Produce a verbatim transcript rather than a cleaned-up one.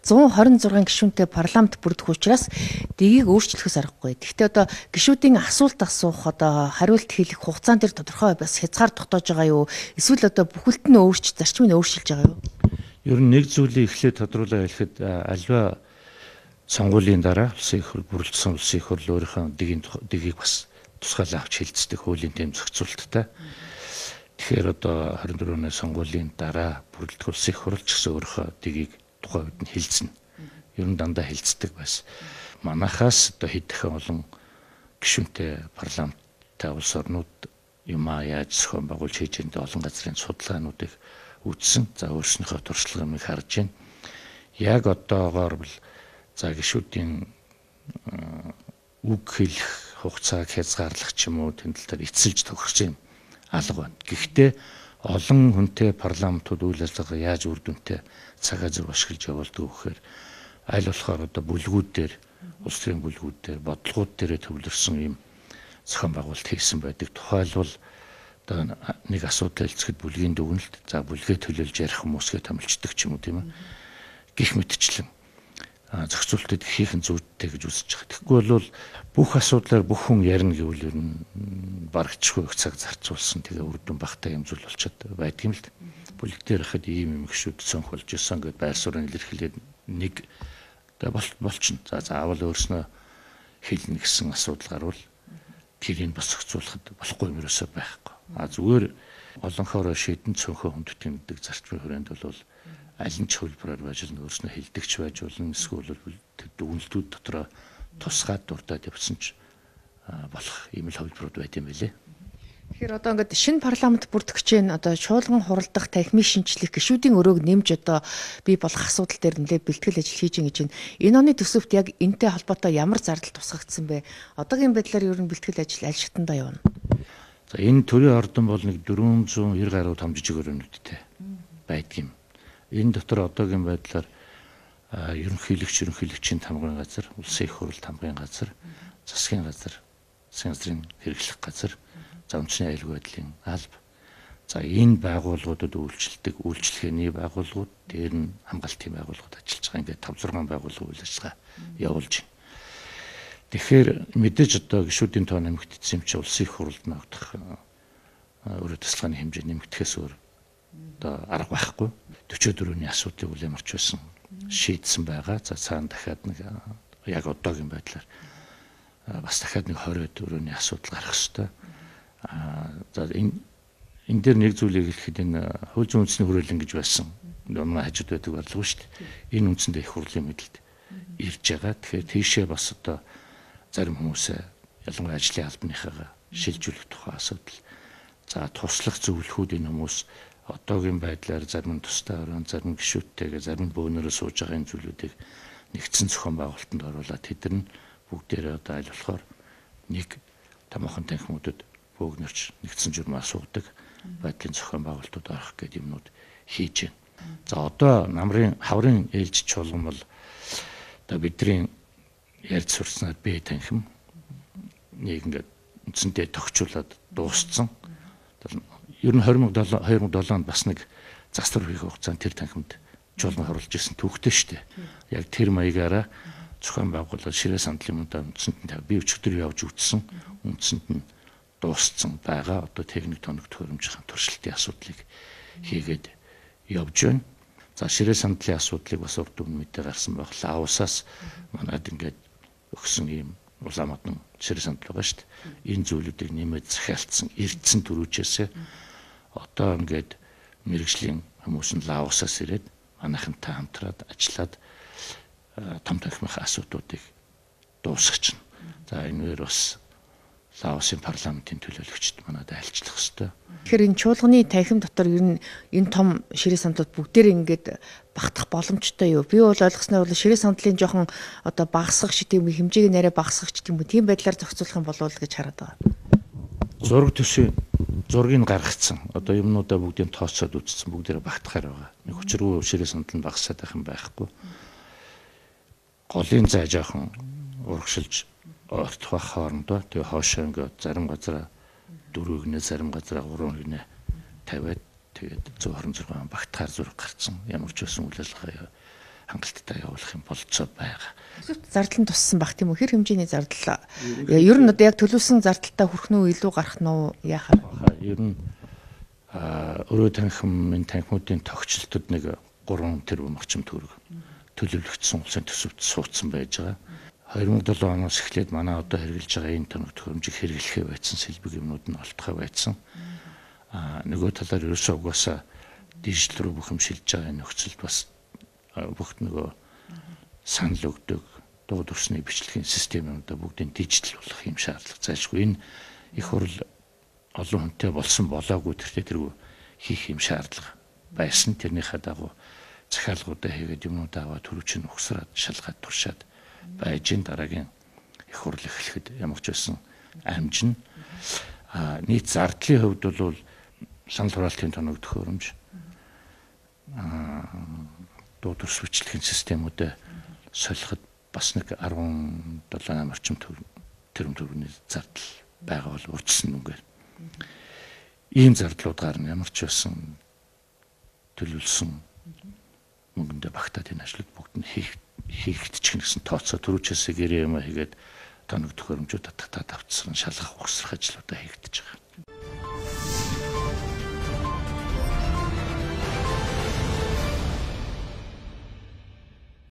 зуун хорин зургийн гишүүнтэй парламент бүрдэх учраас дэгийг өөрчлөхөөс аргагүй. Гэхдээ одоо гишүүдийн асуулт асуух одоо хариулт хэлэх хугацаан дээр тодорхой бас хязгаар тогтоож байгаа юу? Эсвэл одоо бүхэлд нь өөрчлөлт зарчмыг өөрчилж байгаа юу? Ер нь нэг зүйлийг эхлээд тодруулаад хэлэхэд альва сонгуулийн дараа улсын их хурл бүрэлдэхүүн улсын их хурл өөрийнхөө дэгийн дэгийг бас тусгаалan авч хэлцдэг хуулийн дэм зохицуулттай. Тэгэхээр одоо хорин дөрөвний сонгуулийн дараа бүрэлдэхүүн улсын их хурл ч гэсэн өөрийнхөө дэгийг тухайн үед нь хэлцэнэ. Ер нь дандаа хэлцдэг байсан. Манайхаас одоо хэд дахин олон гишүүнтэй парламенттай улс орнууд юмаа яаж зохион байгуулж хийж байгаа олон газрын судалгаануудыг үзсэн. За өөрснийхөө туршлагыг харж байна. Яг одоогоор бол за гишүүдийн үг хэлэх хугацааг хязгаарлах ч юм уу тэмдэл дээр эцэлж тохирч юм алга байна. Гэхдээ олон хүнтэй парламентууд үйл ажиллагаа яаж үр дүнтэй цагаа зөв ашиглаж явуулдаг гэхээр аль болохоор одоо бүлгүүд дээр улс төрийн бүлгүүд дээр бодлогууд дээр төвлөрсөн юм зохион байгуулалт хийсэн байдаг. Тухайлбал одоо нэг асуудал хэлцэхэд бүлгийн дүгнэлт за бүлгээ төлөөлж ярих хүмүүсгээ томилчдаг ч юм уу тийм ээ. Гэх мэтчлэн зохицуултыг хийхэн зүйдтэй гэж үзэж байгаа. Тэгэхгүй бол бүх асуудлаар бүх хүн ярина гэвэл ер нь барагчгүй их цаг зарцуулсан тэгээ үр дүн багтаа юм зүйл болчиход байдаг юм л. Бүлэг дээр ихэд ийм юм гişүүд цонх болж исэн гэдээ байр суурин илэрхийлээд нэг болчихно. За заавал өөрснөө хэлнэ гэсэн асуудал гарвал тэрийг бас зохицуулахад болохгүй юм ерөөсөө байхгүй. А зүгээр олонхоор шийдэн цонхоо хүндэтгэн гэдэг зарчмын хүрээнд бол аль нь ч хөлбөрөөр байж л өөрснөө хилдэгч байж болно эсвэл дүгнэлтүүд дотроо тусгаад дурдаад явсан ч болох ийм л хөлбөрүүд байт юм билээ. Тэгэхээр одоо ингээд шинэ парламент бүрдэх гэж байна. Одоо чуулган хуралдах, танхимыг шинчлэх, гишүүдийн өрөөг нэмж одоо бий болох асуудал дээр нэлээд бэлтгэл ажил хийж байгаа гэж байна. Энэ оны төсөвт яг энэтэй холбоотой ямар зардал тусгагдсан бэ? Одоогийн байдлаар ер нь бэлтгэл ажил аль шатндаа явна? За энэ төрийн ордон бол нэг дөрвөн зуун нэр гаруй том жижиг өрөөнүүдтэй байдаг юм. Энэ дотор одоогийн байдлаар ерөнхийлөгч ерөнхийлөгчийн тамгын газар, улсын их хурл тамгын газар, засгийн газар, засгийн газрын хэрэглэх газар, за үндэсний аюулгүй байдлын алба. За энэ байгууллагуудад үйлчлдэг үйлчлэгээний байгууллагууд, дээр нь хамгаалтын байгууллагууд ажиллаж байгаа. Ингээд тавь зургаан байгууллага үйл ажиллагаа явуулж байна. Тэгэхээр мэдээж одоо гишүүдийн тоо нэмэгдсэн юм чи улсын их хурлд ногдох өөрөө тасалгааны хэмжээ нэмэгдэхээс өөр одоо арга байхгүй. forty-four-ны асуудлыг үл ямарч байсан шийдсэн байгаа. За цаана дахиад нэг яг одоогийн байдлаар бас дахиад нэг twenty-four-ны асуудал гарах ёстой. Аа за энэ энэ дээр нэг зүйлийг хэлэхэд энэ хууль зүйн үндэсний хүрээлэн гэж байсан. Манай хажууд байдаг бодлого шүү дээ. Энэ үндсэндээ их хурлын мэдэлд ирж байгаа. Тэгэхээр тийшээ бас одоо зарим хүмүүсээ ялангуяа ажлын албаныхаа шилжүүлэх тухай асуудал. За туслах зөвлөхүүд энэ хүмүүс одоогийн байдлаар зарим нь тустай орон зарим гишүүдтэйгээ зарим бөөнөрөө сууж байгаа энэ зүйлүүдийг нэгдсэн зохион байгуулалтанд оруулаад тэд нар бүгдээрээ одоо аль болохоор нэг томоохон танхимуудад бөөгнөрч нэгдсэн журмаа суудаг байдлын зохион байгуулалтууд орох гэдэг юмнууд хийж байна. За одоо намрын хаврын ээлж чуулган бол одоо бидний ярьж сурснаар бие танхим нэг ингээд үндсэндээ тогтчуулаад дууссан. Ер нь twenty oh seven онд бас нэг застар хийх хугацаанд тэр танхимд чуулган хорлож ирсэн түүхтэй шүү дээ. Яг тэр маягаараа зохион байгуулалт ширээ сандлын мөндөд үндсэнд нь би өчигдөр явж үзсэн. Үндсэнд нь дууссан байгаа. Одоо техник тоног төхөөрөмжийн туршилтын асуудлыг хийгээд явж байна. За ширээ сандлын асуудлыг бас урд өмнө мэдээ гарсан байх. Лаосаас манад ингээд өгсөн ийм улаамадан ширээ сандал байгаа шүү дээ. Энэ зүйлүүдийг нэмээд захиалцсан эрдсэн төрүүчээсээ одоо ингээд мэрэгжлийн хүмүүс нь Лаосаас ирээд манайхантай хамтраад ажиллаад том танхимын асуудлуудыг дуусгачихна. За энэгээр бас Лаосын парламентын төлөөлөгчд манад айлчлах ёстой. Тэгэхээр энэ чуулганы танхим дотор ер нь энэ том ширээ сандлууд бүгдээр ингээд багтах боломжтой юу? Би бол ойлгосноор бол ширээ сандлын жоохон одоо багасгах шиг тийм хэмжээг нэрээ багасгах ч тийм үү тийм байдлаар зохицуулах юм болов уу гэж хараад байгаа. Зураг төсөө зургийг гаргацсан. Одоо юмнуудаа бүгдийг тооцоод үзсэн бүгдээрээ багтахаар байгаа. Нэг хүчрүү ширээ сандал нь багасаад байх юм байхгүй. Голын зай жоохон урагшилж ортох хоорондоо тэгээ хоошоо ингээд зарим газараа дөрөв гинэ зарим газараа гурван гинэ тавиад тэгээд one twenty-six багтахаар зураг гарцсан. Ямар ч байсан үйл ажиллагаа хангалттай явуулах юм болцоо байгаа. Зардал нь туссан баг тийм үү? Хэр хэмжээний зардал? Ер нь одоо яг төлөвлөсөн зардалтай хүрэх нь үү, илүү гарах нь уу, яахаар? Ер нь өрөө танхимын танхимуудын тогтчлолтод нэг гурван тэрбум орчим төгрөг төлөвлөгдсөн улсын төсөвт суудсан байж байгаа. хоёр мың долоо оноос эхлээд манай одоо хэрэгжилж байгаа энэ тоног төхөөрөмжийг хэрэглэхээ байцсан сэлбэг юмнууд нь олдохоо байцсан. А нөгөө талаар ерөөсөө угаасаа дижитал руу бүх юм шилжиж байгаа нөхцөлд бас бүх нөгөө санал өгдөг дууд усны бичлэгийн системүүдээ бүгдийг дижитал болгох юм шаардлага зайлшгүй. Энэ их хурл олон хүнтэй болсон болоогүй тэртээ тэргүй хийх юм шаардлага байсан. Тэрнийхээ дагуу захиалгуудаа хийгээд юмнуудаа аваад төрөвчн ухсраад шалгаад туршаад байж ин дараагийн их хурл эхлэхэд ямар ч байсан амжин. А нийт зардлын хувьд бол санал хураалтын тоног төхөөрөмж дууд ус бичлэгийн системүүдээ солиход бас нэг арван долоо орчим тэрбум төгрөгийн зардал байгаа бол урьдчилан нүгээр. Ийм зардлуудаар нь ямар ч байсан төлөвлөсөн мөнгөндөө багтаад энэ ажлууд бүгд нь хийх хийгдчих гэсэн тооцоо төрүүчээсээ гэрээ юм хийгээд тоног төхөөрөмжүүд татаад авцсан шалгах ухсрах ажлуудаа хийгдэж байгаа.